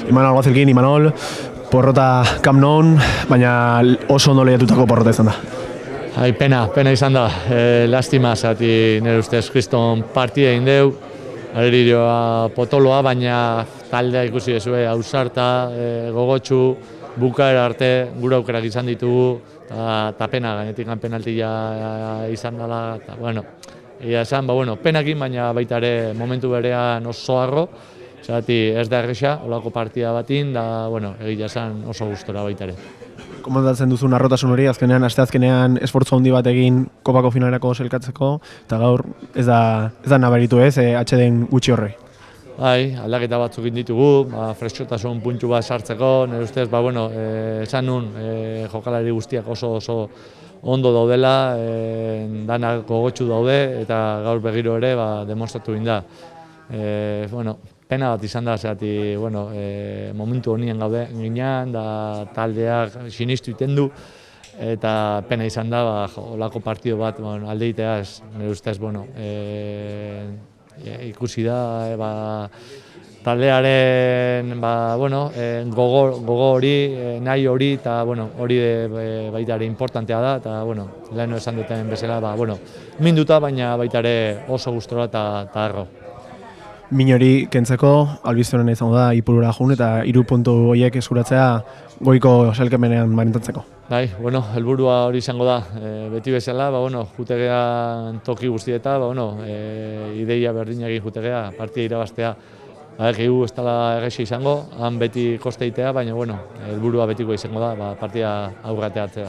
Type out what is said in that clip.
Imanol Gozelkin, Imanol, porrota Camp Nou, baina oso ondo lehiatutako porrota izan da. Pena izan da, lastima, zati nire ustez kriston partida egin deu, areririoa potoloa, baina taldea ikusi dezue, ausarta, gogotsu, bukaera arte, gure aukerak izan ditugu, eta pena, gainetik penaltia izan dela, eta bueno, esan, penakin, baina baita ere momentu berean oso harro, zati ez da erresa, olako partida batin, da, egia esan oso gustora baita ere. Komandatzen duzun arrotasun hori, asteazkenean esfortzu handi bat egin kopako finalerako selkatzeko, eta gaur ez da nabaritu ez, atxeden gutxi horrei. Aldaketa batzuk ditugu, freskotasun puntu bat sartzeko, nire ustez, esan nun jokalari guztiak oso ondo daudela, danak gogotsu daude, eta gaur begiro ere demostratu egin da. Pena bat izan da, momentu honien gaude ginean, da taldeak sinistu iten du, eta pena izan da, olako partido bat aldeitea, nire ustez, ikusi da, taldearen gogo hori, nahi hori, eta hori baita ere importantea da, eta leheno esan duten bezala, minduta, baina baita ere oso gustora eta harro. Min hori kentzeko, albizionena izango da Ipurura jun eta 3 puntu horiek eskuratzea goiko sailkapenean marintatzeko. Helburua hori izango da, beti bezala, jutegean toki guztieta, ideia berdinak jutegea, partida irabaztea. Egu ez dela erresa izango, han beti kosteitea, baina helburua betiko izango da, partida aurrateatzea.